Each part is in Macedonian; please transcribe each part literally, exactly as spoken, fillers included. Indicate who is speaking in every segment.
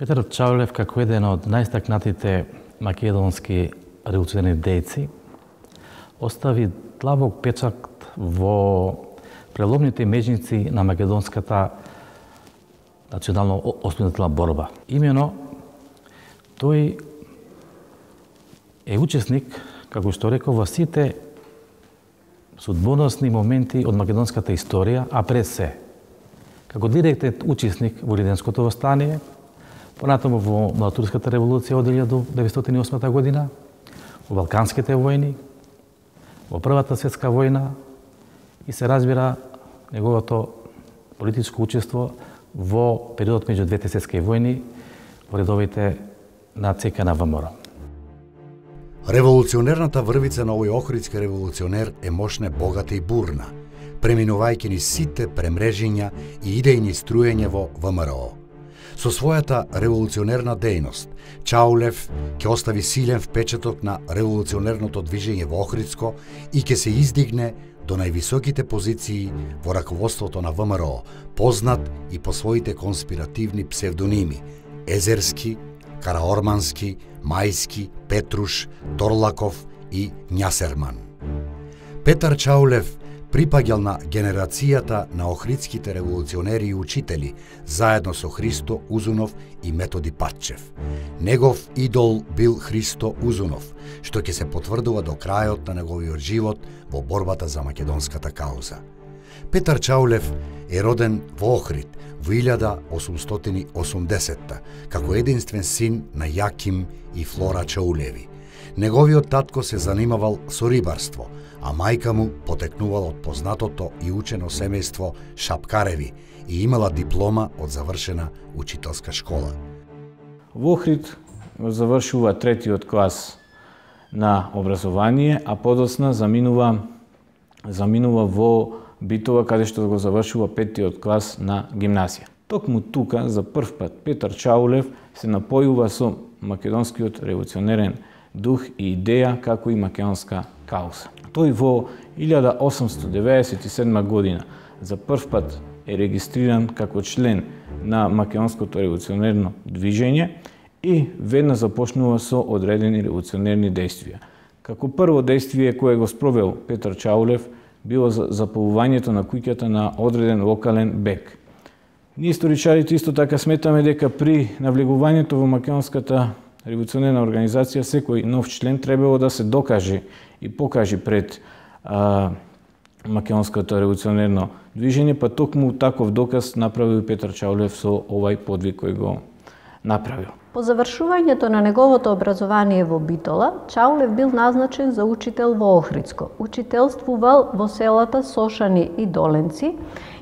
Speaker 1: Петар Чаулев, како еден од најстакнатите македонски револуционерни дејци, остави длабок печат во преломните межници на македонската национално освободителна борба. Имено, тој е учесник, како што реков, во сите судбоносни моменти од македонската историја, а пред се, како директен учесник во Илинденското востание, понатаму во Младотурската револуција од илјадум деветстотини и осма година, во Балканските војни, во Првата светска војна и се разбира неговото политичко учество во периодот меѓу двете светски војни во редовите на ЦК на ВМРО.
Speaker 2: Револуционерната врвица на овој охридски револуционер е мощна, богата и бурна, преминувајќи ни сите премрежиња и идејни струења во ВМРО. Со својата револуционерна дејност, Чаулев ќе остави силен впечаток на револуционерното движење во Охридско и ќе се издигне до највисоките позиции во раководството на ВМРО, познат и по своите конспиративни псевдоними Езерски, Караормански, Мајски, Петруш, Торлаков и Њасерман. Петар Чаулев припаѓал на генерацијата на охридските револуционери и учители, заедно со Христо Узунов и Методи Патчев. Негов идол бил Христо Узунов, што ќе се потврдува до крајот на неговиот живот во борбата за македонската кауза. Петар Чаулев е роден во Охрид во илјада осумстотини и осумдесетта, како единствен син на Јаким и Флора Чаулеви. Неговиот татко се занимавал со рибарство, а мајка му потекнувала од познатото и учено семејство Шапкареви и имала диплома од завршена учителска школа.
Speaker 3: Во Охрид завршува третиот клас на образование, а подосна заминува заминува во Битола, каде што го завршува петтиот клас на гимназија. Токму тука за прв пат Петар Чаулев се напојува со македонскиот револуционерен дух и идеја, како и македонска кауза. Тој во илјада осумстотини деветдесет и седма година за прв пат е регистриран како член на македонското револуционерно движење и веднаш започнува со одредени револуционерни дејствија. Како прво дејствие кое го спровел Петар Чаулев било запалувањето на куќата на одреден локален бек. Ние историчарите исто така сметаме дека при навлегувањето во македонската револуционерна организација секој нов член требало да се докаже и покаже пред а, македонското револуционерно движење, па токму таков доказ направил Петар Чаулев со овај подвиг кој го направил.
Speaker 4: По завршувањето на неговото образование во Битола, Чаулев бил назначен за учител во Охридско. Учителствувал во селата Сошани и Доленци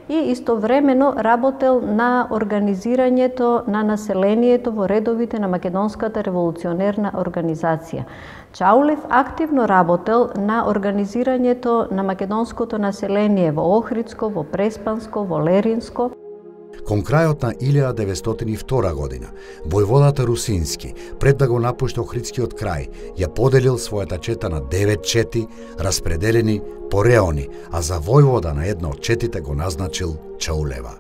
Speaker 4: и истовремено работел на организирањето на населението во редовите на македонската револуционерна организација. Чаулев активно работел на организирањето на македонското население во Охридско, во Преспанско, во Леринско.
Speaker 2: Кон крајот на илјада деветстотини и втора година, војводата Русински, пред да го напушти Охридскиот крај, ја поделил својата чета на девет чети, распределени по реони, а за војвода на една од четите го назначил Чаулева.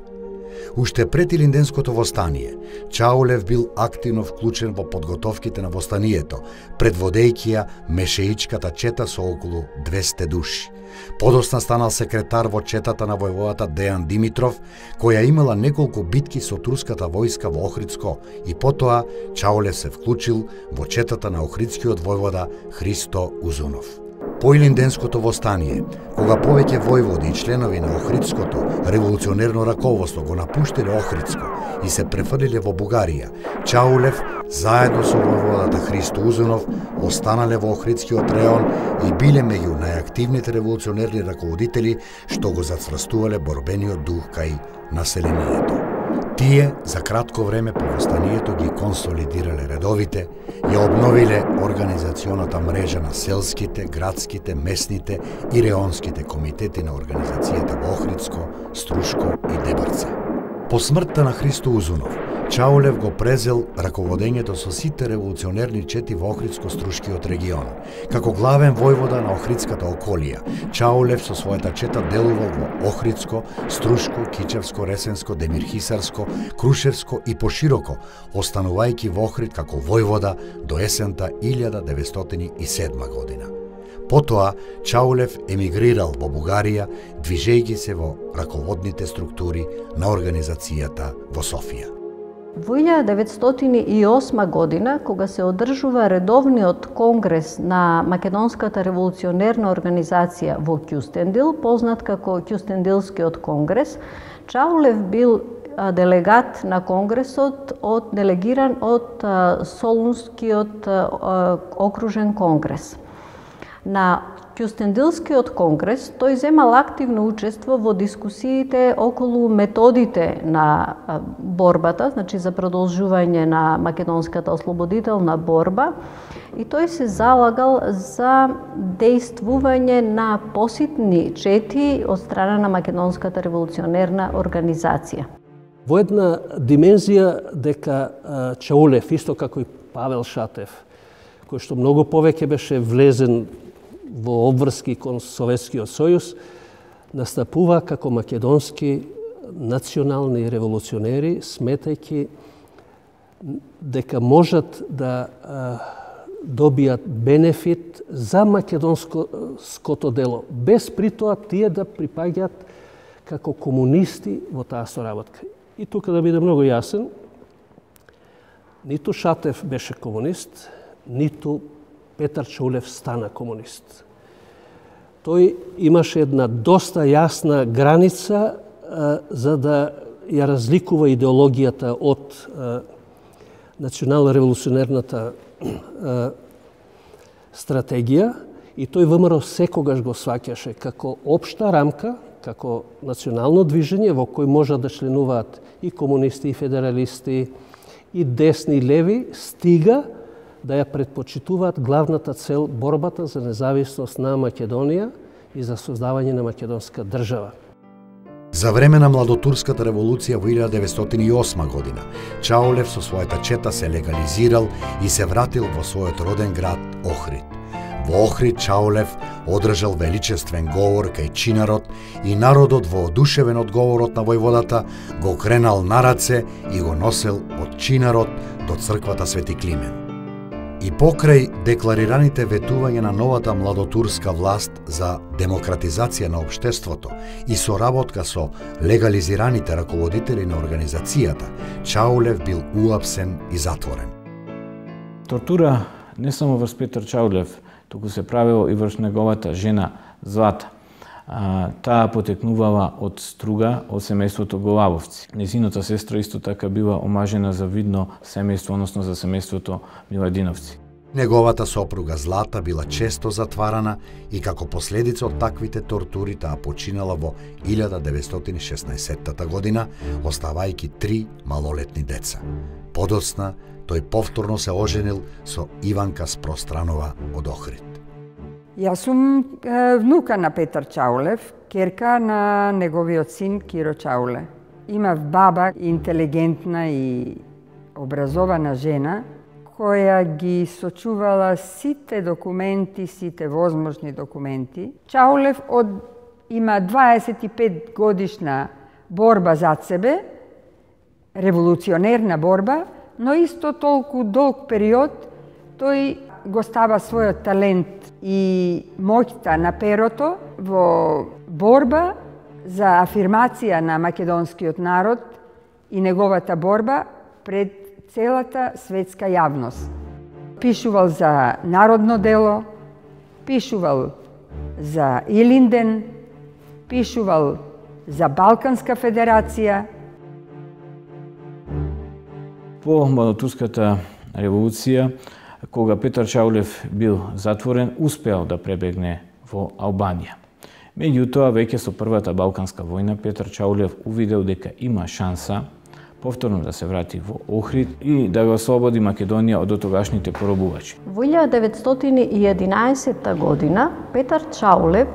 Speaker 2: Уште пред Илинденското востание, Чаулев бил активно вклучен во подготовките на востанието, предводејќи ја мешеичката чета со околу двесте души. Подосна станал секретар во четата на војводата Дејан Димитров, која имала неколку битки со турската војска во Охридско, и потоа Чаулев се вклучил во четата на охридскиот војвода Христо Узунов. По Илинденското востание, кога повеќе војводи и членови на Охридското револуционерно раководство го напуштиле Охридско и се префрлиле во Бугарија, Чаулев, заедно со војводата Христо Узунов, останале во Охридскиот реон и биле меѓу најактивните револуционерни раководители што го зацврстувале борбениот дух кај населението. Тие за кратко време по востанието ги консолидирале редовите, ја обновиле организационата мрежа на селските, градските, местните и реонските комитети на организацијата во Охридско, Струшко и Дебарца. По смртта на Христо Узунов, Чаулев го презел раководењето со сите револуционерни чети во Охридско-Струшкиот регион. Како главен војвода на Охридската околија, Чаулев со својата чета делувал во Охридско, Струшко, Кичевско, Ресенско, Демирхисарско, Крушевско и пошироко, останувајќи во Охрид како војвода до есента илјада деветстотини и седма година. Потоа, Чаулев емигрирал во Бугарија, движејќи се во раководните структури на организацијата во Софија.
Speaker 4: Во илјада деветстотини и осма година, кога се одржува редовниот конгрес на Македонската револуционерна организација во Кјустендил, познат како Кјустендилскиот конгрес, Чаулев бил делегат на конгресот, од, делегиран од Солунскиот окружен конгрес. На Кјустендилскиот конгрес тој земал активно учество во дискусиите околу методите на борбата, значи за продолжување на македонската ослободителна борба, и тој се залагал за дејствување на поситни чети од страна на Македонската револуционерна организација.
Speaker 5: Во една димензија дека Чаулев, исто како и Павел Шатев, кој што многу повеќе беше влезен во обврски кон Советскиот сојуз, настапува како македонски национални револуционери, сметајќи дека можат да а, добијат бенефит за македонското дело, без при тоа тие да припаѓаат како комунисти во таа соработка. И тука да биде многу јасен, ниту Шатев беше комунист, ниту Петар Чаулев стана комунист. Тој имаше една доста јасна граница а, за да ја разликува идеологијата од национално-револуционерната стратегија, и тој ВМРО секогаш го сваќаше како општа рамка, како национално движење во кој можат да членуваат и комунисти, и федералисти, и десни, и леви, стига да ја предпочитуваат главната цел борбата за независност на Македонија и за создавање на македонска држава.
Speaker 2: За време на младотурската револуција во илјада деветстотини и осма година, Чаулев со својата чета се легализирал и се вратил во својот роден град Охрид. Во Охрид Чаулев одржал величествен говор кај чинарот и народот, воодушевен од говорот на војводата, го кренал на раце и го носел од чинарот до црквата Свети Климен. И покрај декларираните ветувања на новата младотурска власт за демократизација на општеството и соработка со легализираните раководители на организацијата, Чаулев бил уапсен и затворен.
Speaker 3: Тортура не само врз Петар Чаулев, туку се правило и врз неговата жена Злата. А, таа потекнувала од Струга, од семејството Голабовци. Незината сестра исто така била омажена за видно семејство, односно за семејството Миладиновци.
Speaker 2: Неговата сопруга Злата била често затварана и како последица од таквите тортури таа починала во илјада деветстотини и шеснаесетта година, оставајќи три малолетни деца. Подоцна тој повторно се оженил со Иванка Спространова од Охрид.
Speaker 6: Јас сум е, внука на Петар Чаулев, керка на неговиот син Киро Чауле. Имав баба, интелигентна и образована жена, која ги сочувала сите документи, сите возможни документи. Чаулев од, има дваесет и пет годишна борба зад себе, револуционерна борба, но исто толку долг период тој го става својот талент и моќта на перото во борба за афирмација на македонскиот народ и неговата борба пред целата светска јавност. Пишувал за народно дело, пишувал за Илинден, пишувал за Балканска федерација.
Speaker 3: По младотурската револуција, кога Петар Чаулев бил затворен, успеал да пребегне во Албанија. Меѓутоа, веќе со првата Балканска војна, Петар Чаулев увидел дека има шанса повторно да се врати во Охрид и да го ослободи Македонија од дотогашните поробувачи.
Speaker 4: Во илјада деветстотини и единаесетта година Петар Чаулев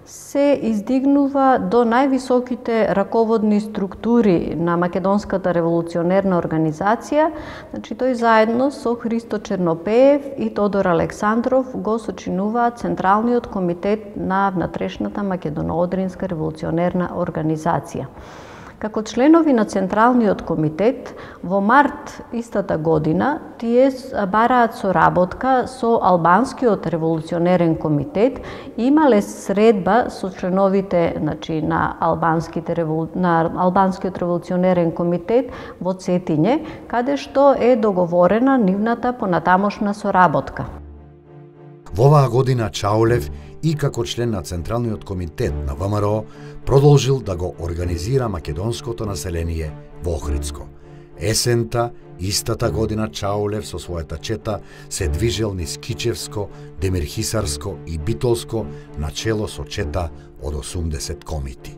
Speaker 4: се издигнува до највисоките раководни структури на Македонската револуционерна организација. Значи, тој заедно со Христо Чернопеев и Тодор Александров го сочинуваат Централниот комитет на внатрешната Македоно-Одринска револуционерна организација. Како членови на Централниот комитет, во март истата година, тие бараат соработка со Албанскиот револуционерен комитет и имале средба со членовите, значи, на, Албанските, на Албанскиот револуционерен комитет во Цетиње, каде што е договорена нивната понатамошна соработка.
Speaker 2: Во оваа година Чаулев и како член на Централниот комитет на ВМРО продолжил да го организира македонското население во Охридско. Есента, истата година Чаулев со својата чета се движел низ Кичевско, Демирхисарско и Битолско начело со чета од осумдесет комити.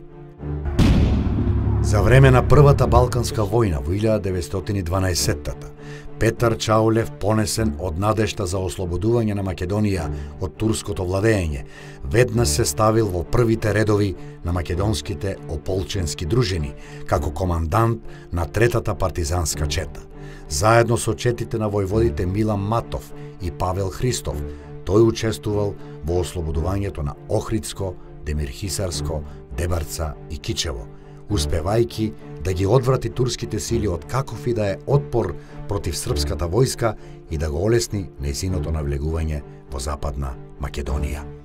Speaker 2: За време на Првата Балканска војна во илјада деветстотини и дванаесеттата Петар Чаулев, понесен од надежта за ослободување на Македонија од турското владење, веднаш се ставил во првите редови на македонските ополченски дружини, како командант на третата партизанска чета. Заедно со четите на војводите Милан Матов и Павел Христов, тој учествувал во ослободувањето на Охридско, Демирхисарско, Дебарца и Кичево, успевајќи да ги одврати турските сили од каков и да е отпор против српската војска и да го олесни нејзиното навлегување во Западна Македонија.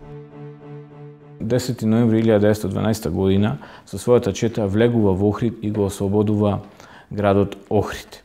Speaker 3: десети ноември илјада деветстотини и дванаесета година со својата чета влегува во Охрид и го ослободува градот Охрид.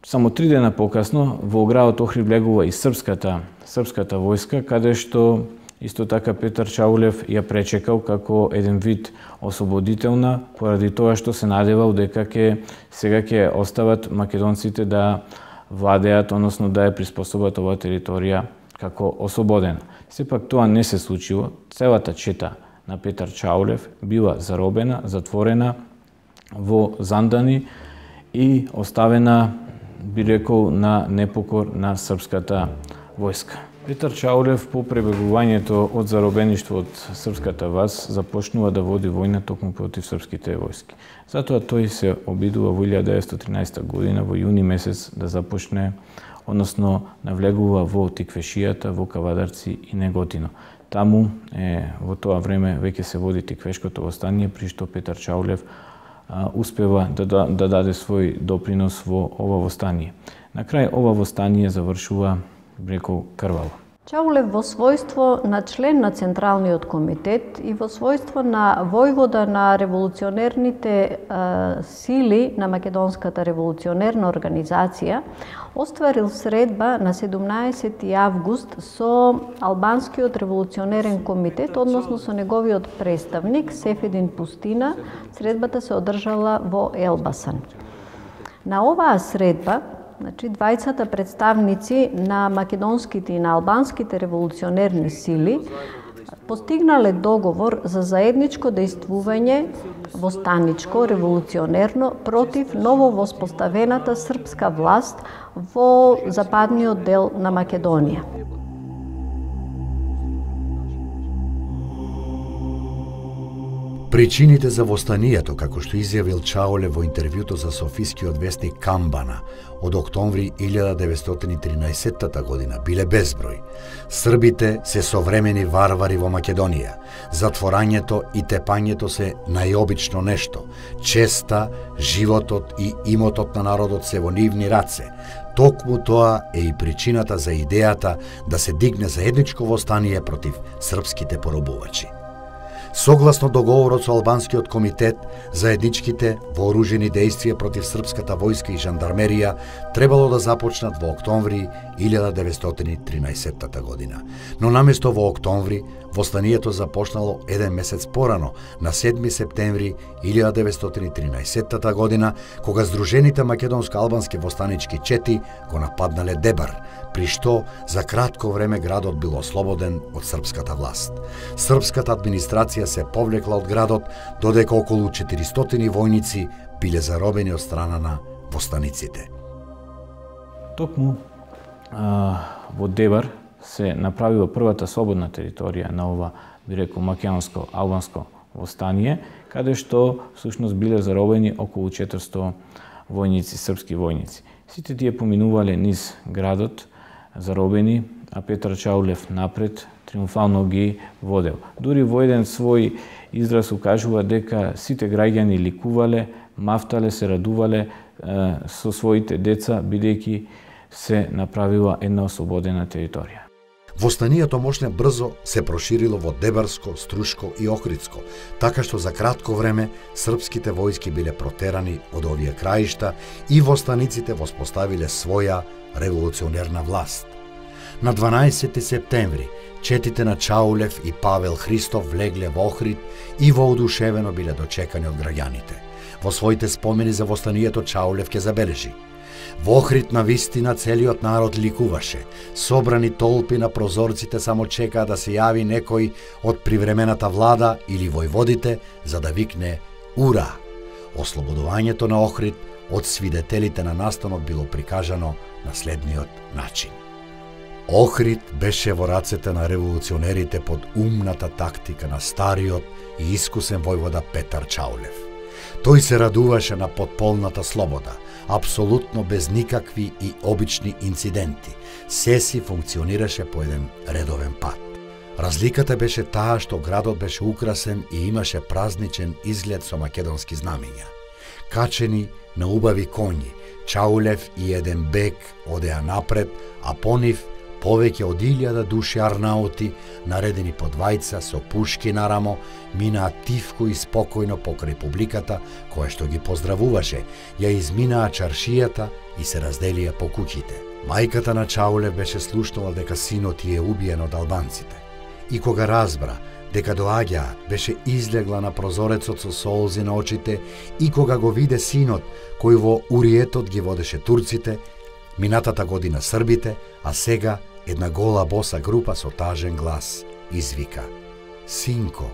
Speaker 3: Само три дена покасно во градот Охрид влегува и српската српската војска, каде што исто така Петар Чаулев ја пречекал како еден вид ослободителна, поради тоа што се надевал дека ќе сега ќе остават македонците да владеат, односно да ја приспособат оваа територија како ослободена. Сепак тоа не се случило. Целата чета на Петар Чаулев била заробена, затворена во Зандани и оставена, би рекол, на непокор на српската војска. Петар Чаулев по пребегувањето од заробеништво од српската власт започнува да води војна токму против српските војски. Затоа тој се обидува во илјада деветстотини и тринадесета година во јуни месец да започне, односно навлегува во Тиквешијата, во Кавадарци и Неготино. Таму е, во тоа време веќе се води Тиквешкото востание, при што Петар Чаулев а, успева да, да, да даде свој допринос во ова востание. На крај ова востание завршува, рекол, крваво.
Speaker 4: Чаулев во својство на член на Централниот комитет и во својство на војвода на револуционерните е, сили на Македонската револуционерна организација остварил средба на седумнаесети август со Албанскиот револуционерен комитет, односно со неговиот представник Сефедин Пустина. Средбата се одржала во Елбасан. На оваа средба, значи, двајцата представници на македонските и на албанските револуционерни сили постигнале договор за заедничко дејствување востаничко, револуционерно, против ново воспоставената српска власт во западниот дел на Македонија.
Speaker 2: Причините за востанието, како што изјавил Чаулев во интервјуто за софискиот вестник Камбана од октомври илјада деветстотини и тринаесеттата година, биле безброј. Србите се современи варвари во Македонија. Затворањето и тепањето се најобично нешто. Честа, животот и имотот на народот се во нивни раце. Токму тоа е и причината за идејата да се дигне заедничко востание против српските поробувачи. Согласно договорот со Албанскиот комитет, заедничките вооружени дејствија против српската војска и жандармерија требало да започнат во октомври илјада деветстотини и тринаесеттата година. Но наместо во октомври, востанието започнало еден месец порано, на седми септември илјада деветстотини и тринаесеттата година, кога Сдружените македонско-албански востанички чети го нападнале Дебар, при што за кратко време градот бил ослободен од српската власт. Српската администрација се повлекла од градот, додека околу четиристотини војници биле заробени од страна на востаниците.
Speaker 3: Токму а, во Дебар се направила првата слободна територија на ова, би рекол, македонско-албанско востание, каде што всушност биле заробени околу четиристо војници, српски војници. Сите тие поминувале низ градот, заробени, а Петар Чаулев напред триумфално ги водел. Дури во еден свој израз укажува дека сите граѓани ликувале, мафтале, се радувале е, со своите деца, бидејќи се направила една ослободена територија.
Speaker 2: Востанието мошне брзо се проширило во Дебарско, Струшко и Охридско, така што за кратко време српските војски биле протерани од овие краишта и востаниците воспоставиле своја револуционерна власт. На дванаесети септември четите на Чаулев и Павел Христов влегле во Охрид и воодушевено биле дочекани од граѓаните. Во своите спомени за востанието Чаулев ќе забележи: во Охрид на вистина целиот народ ликуваше. Собрани толпи на прозорците само чекаа да се јави некој од привремената влада или војводите за да викне «Ура!». Ослободувањето на Охрид од свидетелите на настанот било прикажано на следниот начин. Охрид беше во рацете на револуционерите под умната тактика на стариот и искусен војвода Петар Чаулев. Тој се радуваше на потполната слобода, апсолутно без никакви и обични инциденти. Се си функционираше по еден редовен пат. Разликата беше таа што градот беше украсен и имаше празничен изглед со македонски знамења. Качени на убави коњи, Чаулев и еден бек одеа напред, а по нив повеќе од илјада души арнаути, наредени по двајца со пушки на рамо, минаа тивко и спокојно покрај публиката, која што ги поздравуваше, ја изминаа чаршијата и се разделија по куќите. Мајката на Чаулев беше слушнала дека синот ја е убиен од албанците. И кога разбра дека доаѓаат, беше излегла на прозорецот со солзи на очите, и кога го виде синот кој во уриетот ги водеше турците, минатата година србите, а сега една гола боса група со тажен глас извика: «Синко,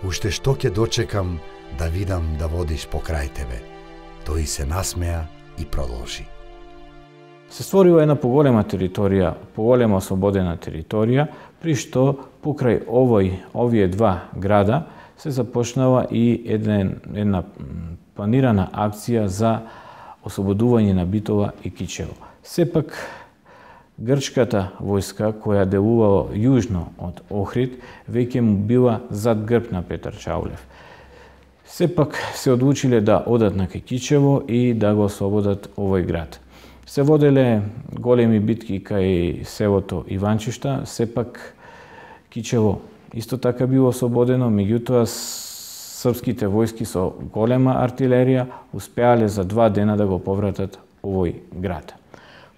Speaker 2: уште што ќе дочекам да видам да водиш покрај тебе». Тој се насмеа и продолжи:
Speaker 3: Се створила една поголема територија, поголема ослободена територија, при што покрај овој, овие два града се започнала и еден, една планирана акција за ослободување на Битола и Кичево. Сепак, грчката војска, која делувала јужно од Охрид, веќе му била зад грб на Петар Чаулев. Сепак се одлучиле да одат на Кичево и да го ослободат овој град. Се воделе големи битки кај селото Иванчишта, сепак Кичево исто така било ослободено, меѓутоа српските војски со голема артилерија успеале за два дена да го повратат овој град.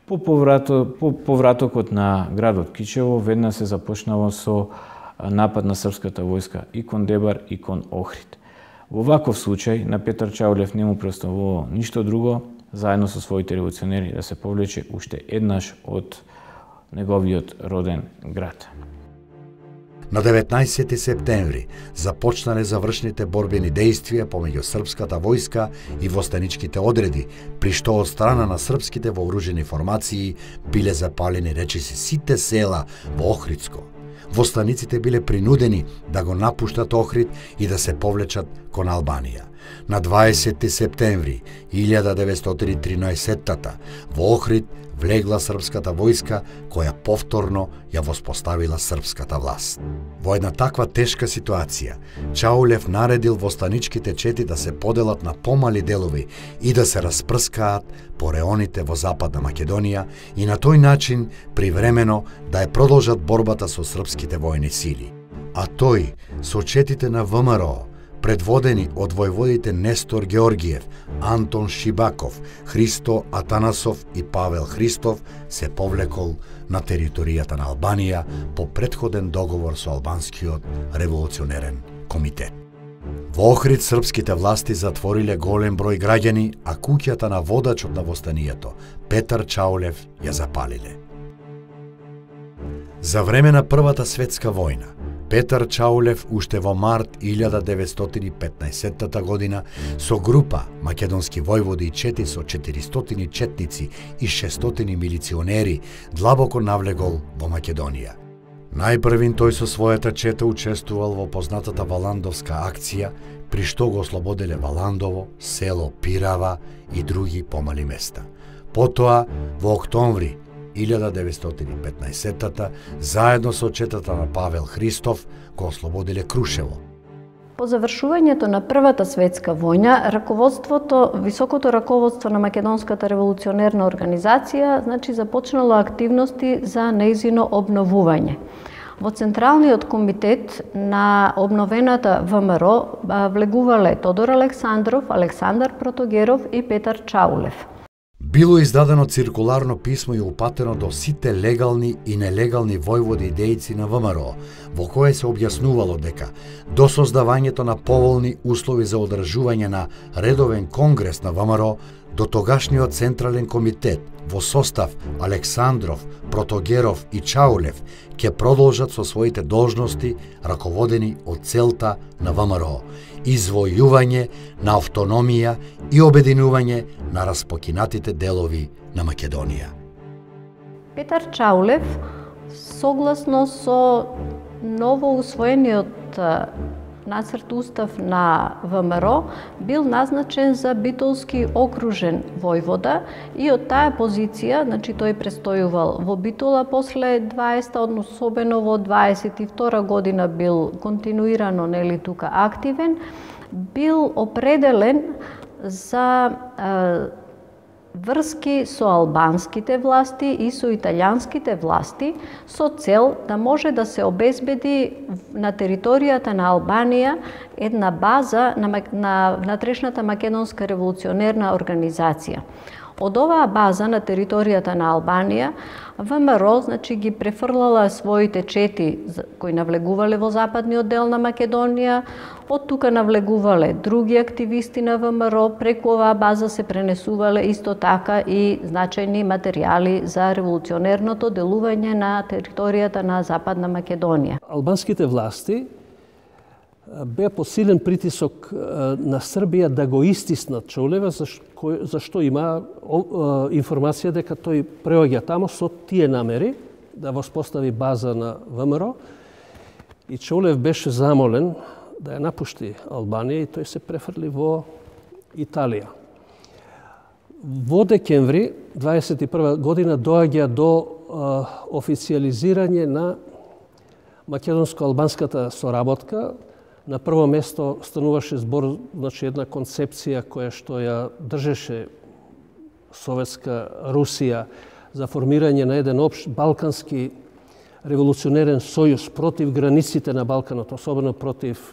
Speaker 3: По, поврато, по повратокот на градот Кичево веднаш се започнало со напад на српската војска и кон Дебар и кон Охрид. Во ваков случај на Петар Чаулев не му преоставувало ништо друго, заедно со своите револуционери, да се повлече уште еднаш од неговиот роден град.
Speaker 2: На деветнаесети септември започнале завршните борбени дејствија помеѓу српската војска и востаничките одреди, при што од страна на српските вооружени формации биле запалени речиси сите села во Охридско. Востаниците биле принудени да го напуштат Охрид и да се повлечат кон Албанија. На дваесети септември илјада деветстотини и тринаесеттата во Охрид влегла српската војска, која повторно ја воспоставила српската власт. Во една таква тешка ситуација, Чаулев наредил востаничките чети да се поделат на помали делови и да се распрскаат по реоните во Западна Македонија и на тој начин привремено да ја продолжат борбата со српските војни сили. А тој, со четите на ВМРО, предводени од војводите Нестор Георгиев, Антон Шибаков, Христо Атанасов и Павел Христов, се повлекол на територијата на Албанија по претходен договор со албанскиот револуционерен комитет. Во Охрид српските власти затвориле голем број граѓани, а куќата на водачот на востанието, Петар Чаулев, ја запалиле. За време на Првата светска војна, Петар Чаулев уште во март илјада деветстотини и петнаесетта година со група македонски војводи и чети со четиристотини четници и шестстотини милиционери длабоко навлегол во Македонија. Најпрвин тој со својата чета учествувал во познатата Валандовска акција, при што го ослободеле Валандово, село Пирава и други помали места. Потоа, во октомври илјада деветстотини и петнаесетта, заедно со четата на Павел Христов, го ослободеле Крушево.
Speaker 4: По завршувањето на Првата светска војна, раководството, високото раководство на Македонската револуционерна организација, значи започнало активности за нејзино обновување. Во Централниот комитет на обновената ВМРО влегувале Тодор Александров, Александар Протогеров и Петар Чаулев.
Speaker 2: Било издадено циркуларно писмо и упатено до сите легални и нелегални војводи и дејци на ВМРО, во кое се објаснувало дека до создавањето на поволни услови за одржување на редовен конгрес на ВМРО, до тогашниот Централен комитет во состав Александров, Протогеров и Чаулев ќе продолжат со своите должности раководени од целта на ВМРО, извојување на автономија и обединување на распокинатите делови на Македонија.
Speaker 4: Петар Чаулев, согласно со ново усвоениот нацрт устав на ВМРО, бил назначен за Битолски окружен војвода и од таа позиција, значи тој престојувал во Битола после дваесетта, односно особено во дваесет и втора година бил континуирано нели тука активен, бил определен за е, врски со албанските власти и со италијанските власти со цел да може да се обезбеди на територијата на Албанија една база на, на внатрешната македонска револуционерна организација. Од оваа база на територијата на Албанија, ВМРО значи ги префрлала своите чети кои навлегувале во западниот дел на Македонија, од тука навлегувале други активисти на ВМРО, преку оваа база се пренесувале исто така и значајни материјали за револуционерното делување на територијата на Западна Македонија.
Speaker 5: Албанските власти беа под силен притисок на Србија да го истиснат Чаулева, зашто има информација дека тој преоѓа тамо со тие намери да воспостави база на ВМРО и Чаулев беше замолен да ја напушти Албанија и тој се префрли во Италија. Во декември дваесет и прва година доаѓа до официализирање на македонско-албанската соработка. На прво место стануваше збор, значи една концепција која што ја држеше Советска Русија за формирање на еден општ балкански револуционерен сојуз против границите на Балканот, особено против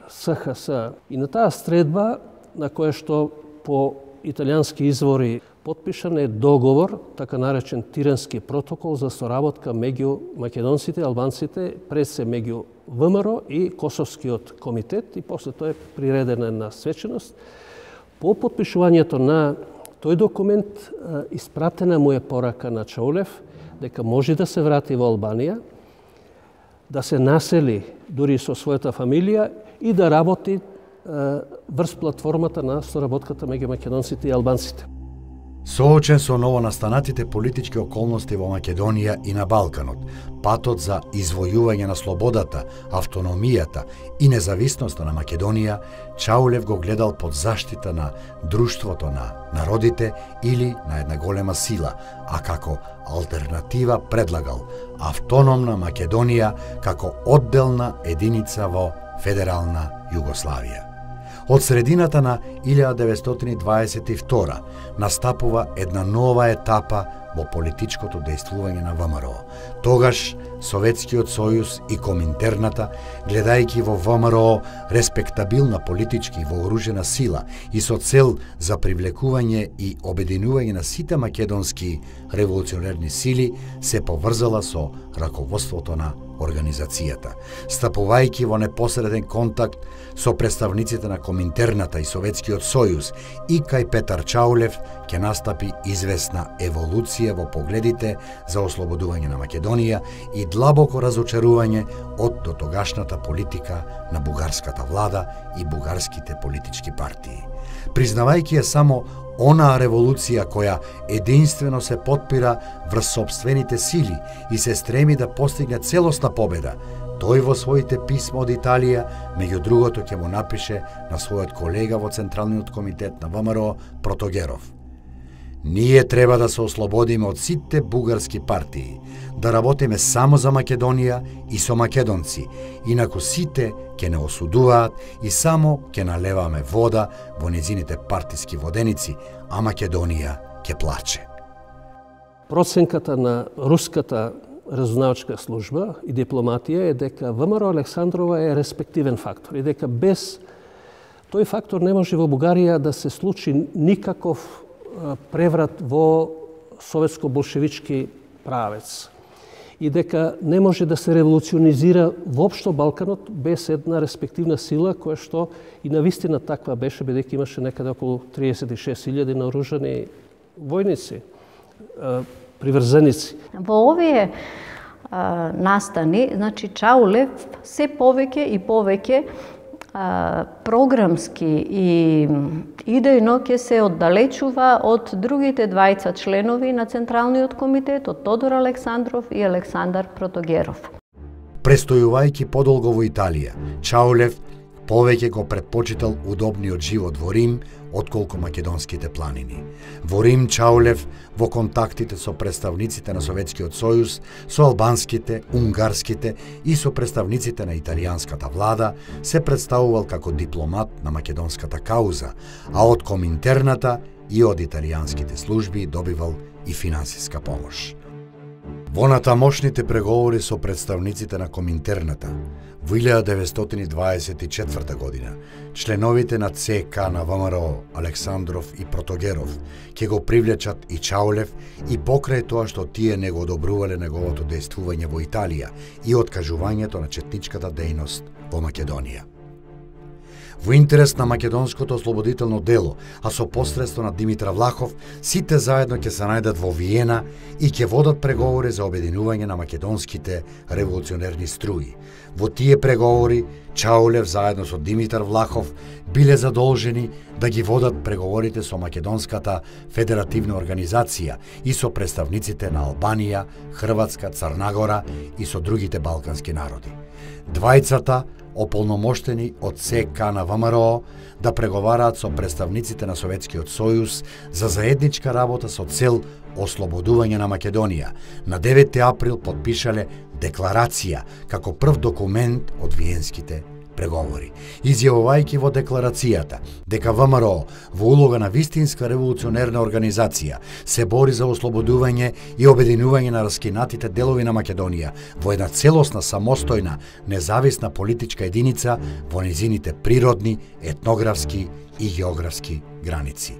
Speaker 5: СХС. И на таа средба, на која што по италијански извори потпишан е договор, така наречен Тирански протокол за соработка меѓу македонците, албанците, пред се меѓу ВМРО и Косовскиот комитет и после тоа е приредена на свеченост. По потпишувањето на тој документ испратена му е порака на Чаулев дека може да се врати во Албанија, да се насели дури со својата фамилија и да работи врз платформата на соработката меѓу македонците и албанците.
Speaker 2: Соочен со новонастанатите политички околности во Македонија и на Балканот, патот за извојување на слободата, автономијата и независноста на Македонија, Чаулев го гледал под заштита на друштвото на народите или на една голема сила, а како алтернатива предлагал автономна Македонија како одделна единица во федерална Југославија. Од средината на илјада деветстотини дваесет и втора настапува една нова етапа во политичкото дејствување на ВМРО. Тогаш Советскиот сојуз и Коминтерната, гледајќи во ВМРО респектабилна политички и вооружена сила и со цел за привлекување и обединување на сите македонски револуционерни сили, се поврзала со раководството на организацијата, стапувајќи во непосреден контакт со представниците на Коминтерната и Советскиот сојуз, и кај Петар Чаулев ќе настапи известна еволуција во погледите за ослободување на Македонија и длабоко разочарување од дотогашната политика на бугарската влада и бугарските политички партии. Признавајќи ја само онаа револуција која единствено се потпира врз сопствените сили и се стреми да постигне целосна победа, тој во своите писма од Италија, меѓу другото ќе му напише на својот колега во Централниот комитет на ВМРО Протогеров: ние треба да се ослободиме од сите бугарски партии, да работиме само за Македонија и со македонци, инаку сите ќе не осудуваат и само ќе налеваме вода во незините партиски воденици, а Македонија ќе плаче.
Speaker 5: Проценката на руската разузнавачка служба и дипломатија е дека ВМРО Александрова е респективен фактор и дека без тој фактор не може во Бугарија да се случи никаков преврат во советско-болшевички правец и дека не може да се револуционизира воопшто Балканот без една респективна сила која што и навистина таква беше, бидејќи имаше некаде околу триесет и шест илјади наоружани војници, приврзеници.
Speaker 4: Во овие а, настани, значи Чаулев се повеќе и повеќе а, програмски и идејно ќе се оддалечува од другите двајца членови на Централниот комитет, од Тодор Александров и Александар Протогеров.
Speaker 2: Престојувајќи подолго во Италија, Чаулев повеќе го предпочитал удобниот живот во Рим отколку македонските планини. Во Рим Чаулев во контактите со представниците на Советскиот сојуз, со албанските, унгарските и со представниците на италијанската влада се представувал како дипломат на македонската кауза, а од Коминтерната и од италијанските служби добивал и финансиска помош. Во натамошните преговори со представниците на Коминтерната во илјада деветстотини дваесет и четврта година, членовите на ЦК на ВМРО Александров и Протогеров ќе го привлечат и Чаулев и покрај тоа што тие не го одобрувале неговото дејствување во Италија и откажувањето на четничката дејност во Македонија. Во интерес на македонското ослободително дело, а со посредство на Димитар Влахов, сите заедно ќе се најдат во Виена и ќе водат преговори за обединување на македонските револуционерни струи. Во тие преговори, Чаулев заедно со Димитар Влахов биле задолжени да ги водат преговорите со Македонската федеративна организација и со представниците на Албанија, Хрватска, Црнагора и со другите балкански народи. Двајцата ополномоштени од ЦК на ВМРО да преговараат со представниците на Советскиот сојуз за заедничка работа со цел ослободување на Македонија, на деветти април подпишале декларација како прв документ од Виенските преговори, изјавувајќи во декларацијата дека ВМРО во улога на вистинска револуционерна организација се бори за ослободување и обединување на раскинатите делови на Македонија во една целосна, самостојна, независна политичка единица во низините природни, етнографски и географски граници.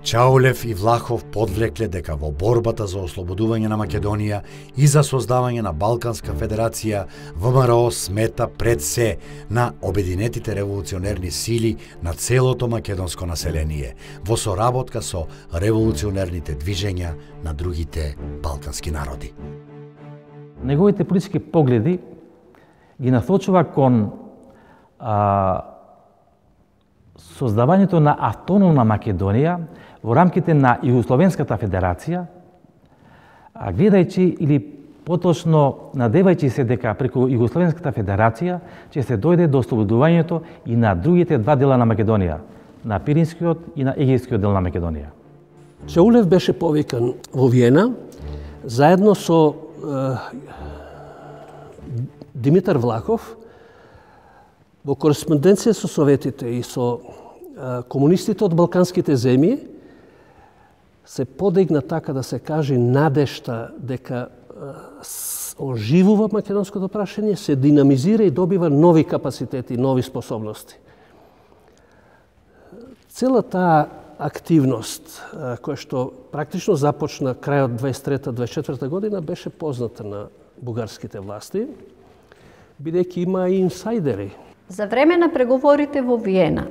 Speaker 2: Чаулев и Влахов подвлекле дека во борбата за ослободување на Македонија и за создавање на Балканска федерација, ВМРО смета пред се на обединетите револуционерни сили на целото македонско население, во соработка со револуционерните движења на другите балкански народи.
Speaker 1: Неговите политички погледи ги насочува кон а, создавањето на автономна Македонија во рамките на Југословенската федерација, гледајќи или поточно надевајќи се дека преку Југословенската федерација ќе се дојде до ослободувањето и на другите два дела на Македонија, на Пиринскиот и на Егејскиот дел на Македонија.
Speaker 5: Чаулев беше повикан во Виена заедно со е, Димитар Влахов во кореспонденција со советите и со е, комунистите од балканските земји се подигна, така да се каже, надежта дека оживува македонското прашање, се динамизира и добива нови капацитети, нови способности. Цела таа активност, која што практично започна крајот дваесет и трета дваесет и четврта година, беше позната на бугарските власти, бидејќи има и инсайдери.
Speaker 4: За време на преговорите во Виена,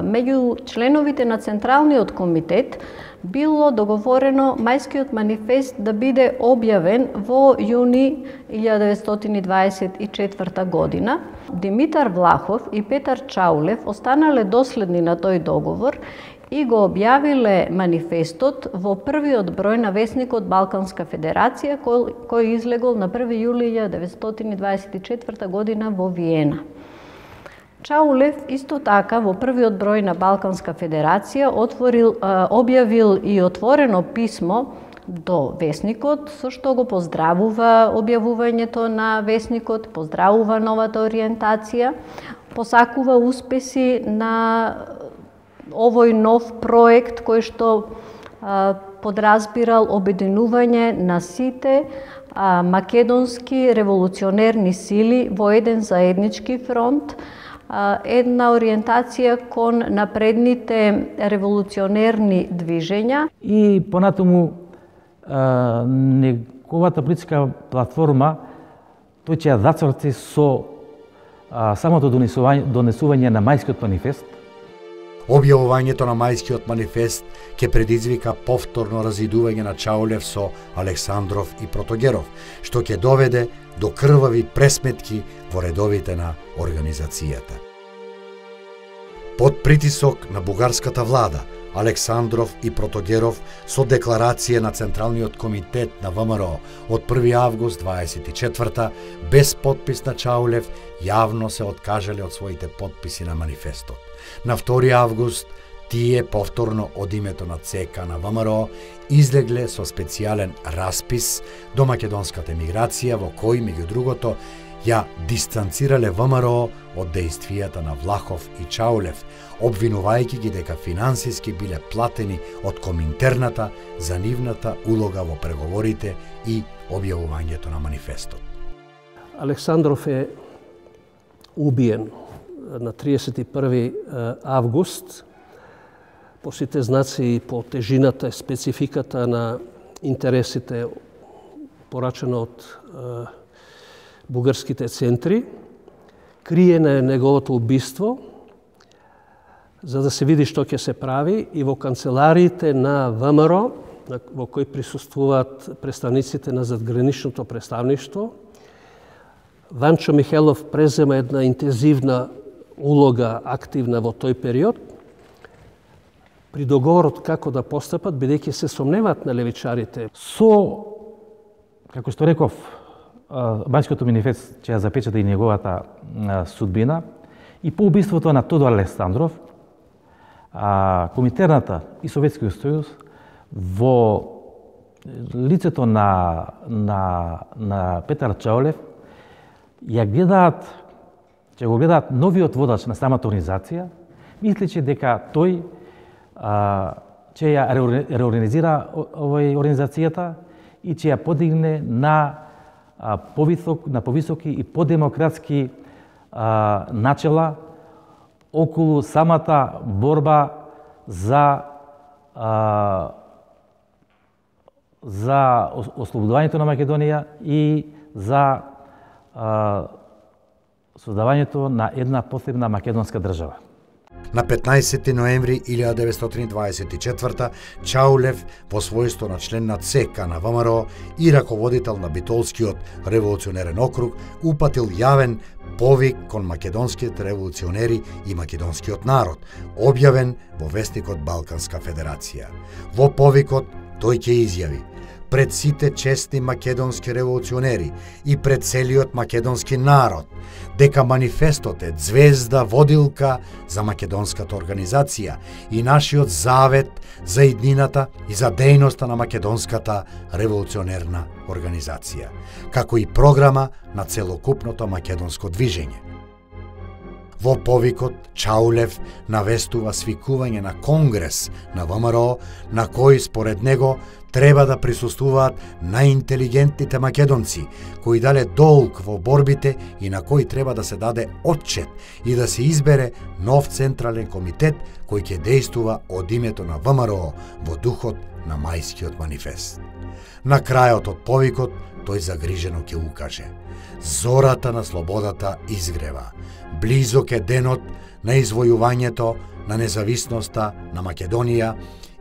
Speaker 4: меѓу членовите на Централниот комитет било договорено Мајскиот манифест да биде објавен во јуни илјада деветстотини дваесет и четврта година. Димитар Влахов и Петар Чаулев останале доследни на тој договор и го објавиле манифестот во првиот број на весникот Балканска федерација, кој, кој излегол на први јули илјада деветстотини дваесет и четврта година во Виена. Чаулев исто така во првиот број на Балканска федерација отворил, објавил и отворено писмо до весникот, со што го поздравува објавувањето на весникот, поздравува новата ориентација, посакува успеси на овој нов проект кој што а, подразбирал обединување на сите а, македонски револуционерни сили во еден заеднички фронт, а, една ориентација кон напредните револуционерни движења.
Speaker 1: И понатаму а, неговата политичка платформа тој ќе ја зацрти со а, самото донесување, донесување на Мајскиот манифест.
Speaker 2: Објавувањето на Мајскиот манифест ќе предизвика повторно разидување на Чаулев со Александров и Протогеров, што ќе доведе до крвави пресметки во редовите на организацијата. Под притисок на бугарската влада, Александров и Протогеров со декларација на Централниот комитет на ВМРО од први август дваесет и четврта без подпис на Чаулев јавно се откажале од своите подписи на манифестот. На втори август тие повторно од името на ЦК на ВМРО излегле со специјален распис до македонската емиграција во кој, меѓу другото, ја дистанцирале ВМРО од дејствијата на Влахов и Чаулев, обвинувајќи ги дека финансиски биле платени од Коминтерната за нивната улога во преговорите и објавувањето на манифестот.
Speaker 5: Александров е убиен на триесет и први август по сите знаци и по тежината и спецификата на интересите порачено од бугарските центри. Криено е неговото убиство за да се види што ќе се прави и во канцелариите на ВМРО, во кои присуствуваат представниците на задграничното представништво, Ванчо Михелов презема една интензивна улога активна во тој период при договорот како да постапат, бидејќи се сомневаат на левичарите.
Speaker 1: Со, како што реков, Мајскиот манифест ќе ја запечата и неговата судбина и по убиството на Тодор Александров, Коминтерната и Советскиот сојуз во лицето на, на, на Петар Чаулев ја гледаат, ќе го гледаат новиот водач на самата организација, мислече дека тој а, ќе ја реорганизира овој организацијата и ќе ја подигне на а, повисок, на повисоки и подемократски а, начела околу самата борба за а, за ослободувањето на Македонија и за а, создавањето на една посебна македонска држава.
Speaker 2: На петнаесети ноември илјада деветстотини дваесет и четврта Чаулев во својство на член на ЦК на ВМРО и раководител на Битолскиот револуционерен округ упатил јавен повик кон македонските револуционери и македонскиот народ, објавен во вестникот Балканска федерација. Во повикот тој ќе изјави: пред сите честни македонски револуционери и пред целиот македонски народ, дека манифестот е звезда водилка за македонската организација и нашиот завет за иднината и за дејноста на македонската револуционерна организација, како и програма на целокупното македонско движење. Во повикот Чаулев навестува свикување на конгрес на ВМРО, на кој според него треба да присуствуваат најинтелигентните македонци, кои дале долг во борбите и на кој треба да се даде отчет и да се избере нов централен комитет кој ќе действува од името на ВМРО во духот на Мајскиот манифест. На крајот од повикот тој загрижено ќе укаже. Зората на слободата изгрева. Близок е денот на извојувањето на независноста на Македонија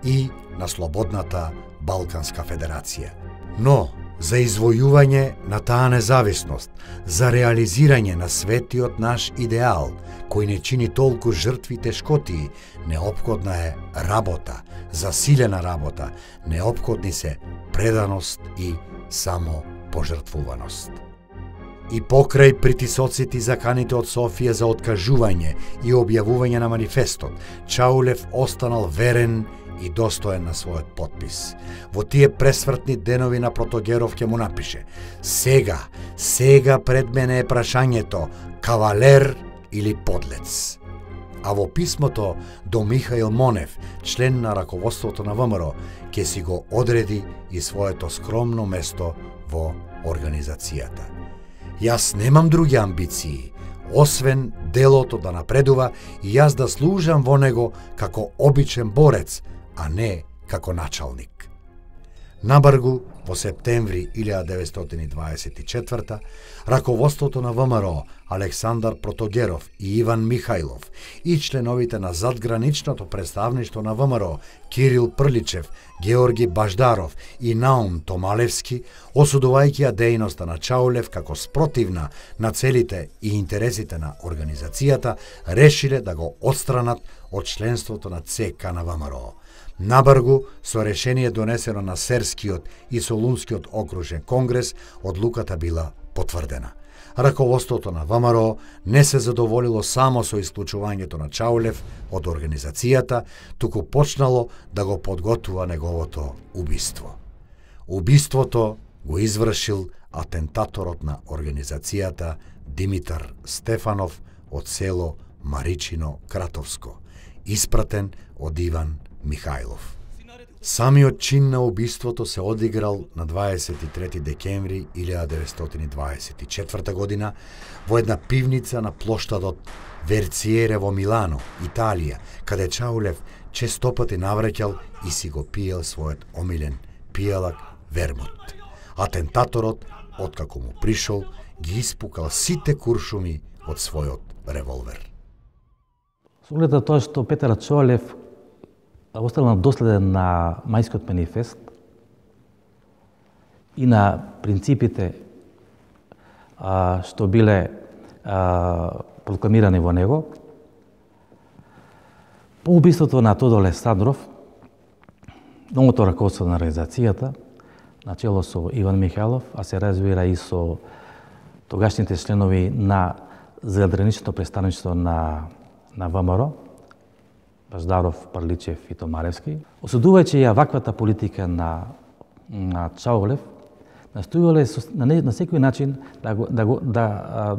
Speaker 2: и на слободната Балканска федерација. Но, за извојување на таа независност, за реализирање на светиот наш идеал, кој не чини толку жртви и тешкотии, неопходна е работа, засилена работа, неопходни се преданост и самопожртвуваност. И покрај притисоците и заканите од Софија за откажување и објавување на манифестот, Чаулев останал верен и достоен на својот подпис. Во тие пресвртни денови на Протогеров ќе му напише: сега, сега пред мене е прашањето, кавалер или подлец. А во писмото до Михаил Монев, член на раководството на ВМРО, ќе си го одреди и своето скромно место во организацијата. Јас немам други амбиции, освен делото да напредува и јас да служам во него како обичен борец, а не како началник. Набргу, во септември илјада деветстотини и дваесет и четврта, раководството на ВМРО Александар Протогеров и Иван Михајлов и членовите на задграничното представништво на ВМРО Кирил Прличев, Георги Баждаров и Наум Томалевски, осудувајќи ја дејноста на Чаулев како спротивна на целите и интересите на организацијата, решиле да го отстранат од членството на ЦК на ВМРО. Набргу, со решение донесено на Серскиот и Солунскиот окружен конгрес, одлуката била потврдена. Раководството на ВМРО не се задоволило само со исклучувањето на Чаулев од организацијата, туку почнало да го подготвува неговото убиство. Убиството го извршил атентаторот на организацијата Димитар Стефанов од село Маричино Кратовско, испратен од Иван Михајлов. Самиот чин на убиството се одиграл на дваесет и трети декември илјада деветстотини дваесет и четврта година во една пивница на плоштадот Верциере во Милано, Италија, каде Чаулев честопати навраќал и си го пиел својот омилен пијалак вермут. Атентаторот, откако му пришол, ги испукал сите куршуми од својот револвер.
Speaker 1: Со оглед на тоа што Петар Чаулев остана доследен на Мајскиот манифест и на принципите а, што биле а, прокламирани во него, по убиството на Тодор Александров, новото раководство на организацијата, начело со Иван Михајлов, а се разбира и со тогашните членови на задграничното представништво на, на ВМРО, Баждаров, Прличев и Томаревски, осудувајќи ја ваквата политика на, на Чаулев, настојувале на, на секој начин да го, да го, да,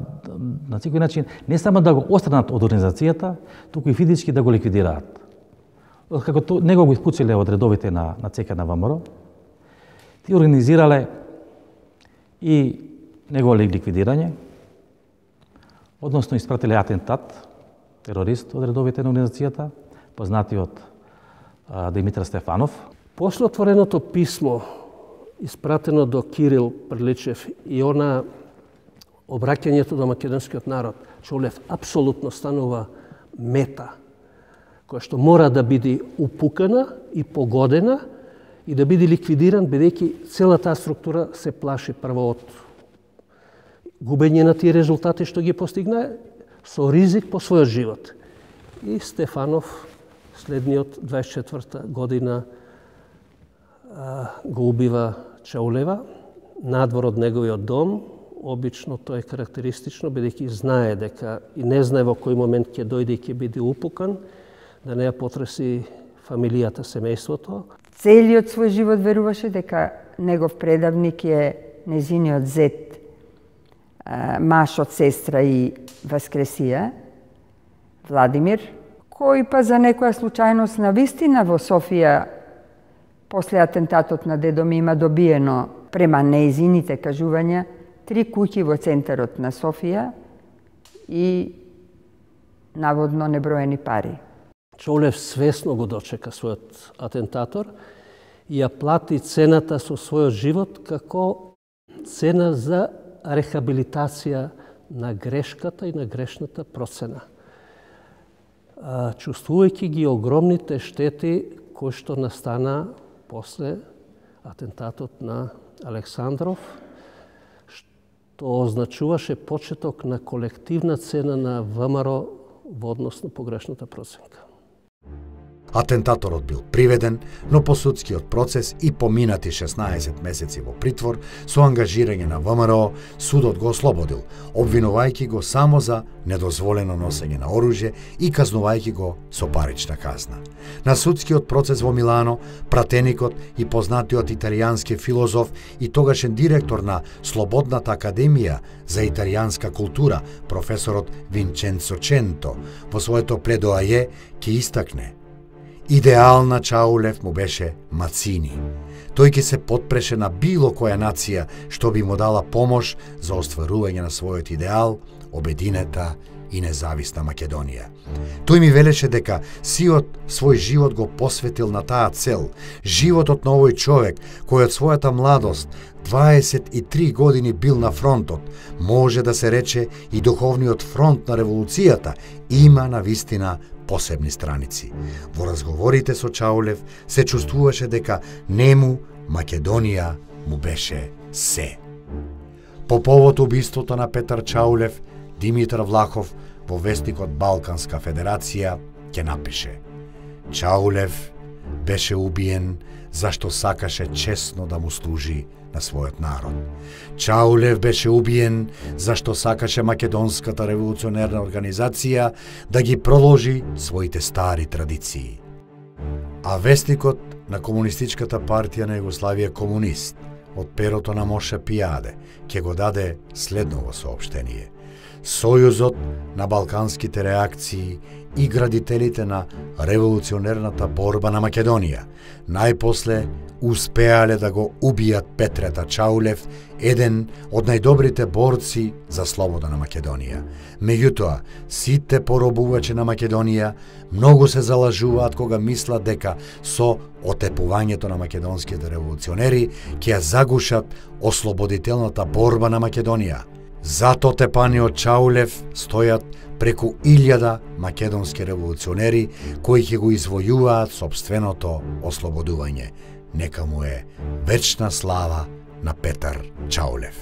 Speaker 1: на секој начин не само да го отстранат од организацијата, туку и физички да го ликвидираат. Како то, него го испучиле од редовите на, на ЦК на ВМРО, ти организирале и негово ликвидирање, односно испратиле атентат, терорист од редовите на организацијата, познатиот а, Димитар Стефанов.
Speaker 5: После отвореното писмо, испратено до Кирил Прличев и она обраќањето до македонскиот народ, Чаулев апсолутно станува мета, која што мора да биде упукана и погодена и да биде ликвидиран, бидејќи цела таа структура се плаши прво од губење на тие резултати што ги постигна, со ризик по својот живот. И Стефанов следниот дваесет и четврта година а, го убива Чаулева надвор од неговиот дом. Обично тоа е карактеристично, бидејќи знае дека и не знае во кој момент ќе дојде и ќе биде упукан, да не ја потреси фамилијата, семејството.
Speaker 6: Целиот свој живот веруваше дека негов предавник е незиниот зет, маж од сестра и Васкресија, Владимир, кој па за некоја случајност на вистина во Софија после атентатот на дедо ми има добиено, према неизините кажувања, три куќи во центарот на Софија и наводно неброени пари.
Speaker 5: Чаулев свесно го дочека својот атентатор и ја плати цената со својот живот како Цена за рехабилитација на грешката и на грешната процена. Чувствувајќи ги огромните штети кои што настана после атентатот на Александров, што означуваше почеток на колективна цена на ВМРО во однос на погрешната проценка.
Speaker 2: Атентаторот бил приведен, но по судскиот процес и поминати шеснаесет месеци во притвор со ангажирање на ВМРО, судот го ослободил, обвинувајќи го само за недозволено носење на оружје и казнувајќи го со парична казна. На судскиот процес во Милано, пратеникот и познатиот италијански филозоф и тогашен директор на Слободната академија за италијанска култура, професорот Винченцо Ченто, во своето предоаје ќе истакне: идеал на Чаулев му беше Мацини. Тој ќе се потпреше на било која нација што би му дала помош за остварување на својот идеал, обединета и независна Македонија. Тој ми велеше дека сиот свој живот го посветил на таа цел, животот на овој човек кој од својата младост, дваесет и три години бил на фронтот, може да се рече и духовниот фронт на револуцијата, има на вистина посебни страници. Во разговорите со Чаулев се чувствуваше дека нему Македонија му беше се. По повод убиството на Петар Чаулев, Димитар Влахов во вестникот Балканска федерација ќе напише: Чаулев беше убиен зашто сакаше честно да му служи на својот народ. Чаулев беше убиен зашто сакаше Македонската револуционерна организација да ги проложи своите стари традиции. А вестникот на Комунистичката партија на Југославија Комунист од перото на Моше Пијаде ќе го даде следново соопштение: Сојузот на балканските реакции и градителите на револуционерната борба на Македонија најпосле успеале да го убијат Петрета Чаулев, еден од најдобрите борци за слобода на Македонија. Меѓутоа, сите поробувачи на Македонија многу се залажуваат кога мислат дека со отепувањето на македонските револуционери ќе ја загушат ослободителната борба на Македонија. Зато отепаниот Чаулев стојат преку илјада македонски револуционери кои ќе го извојуваат сопственото ослободување. Нека му е вечна слава на Петар Чаулев.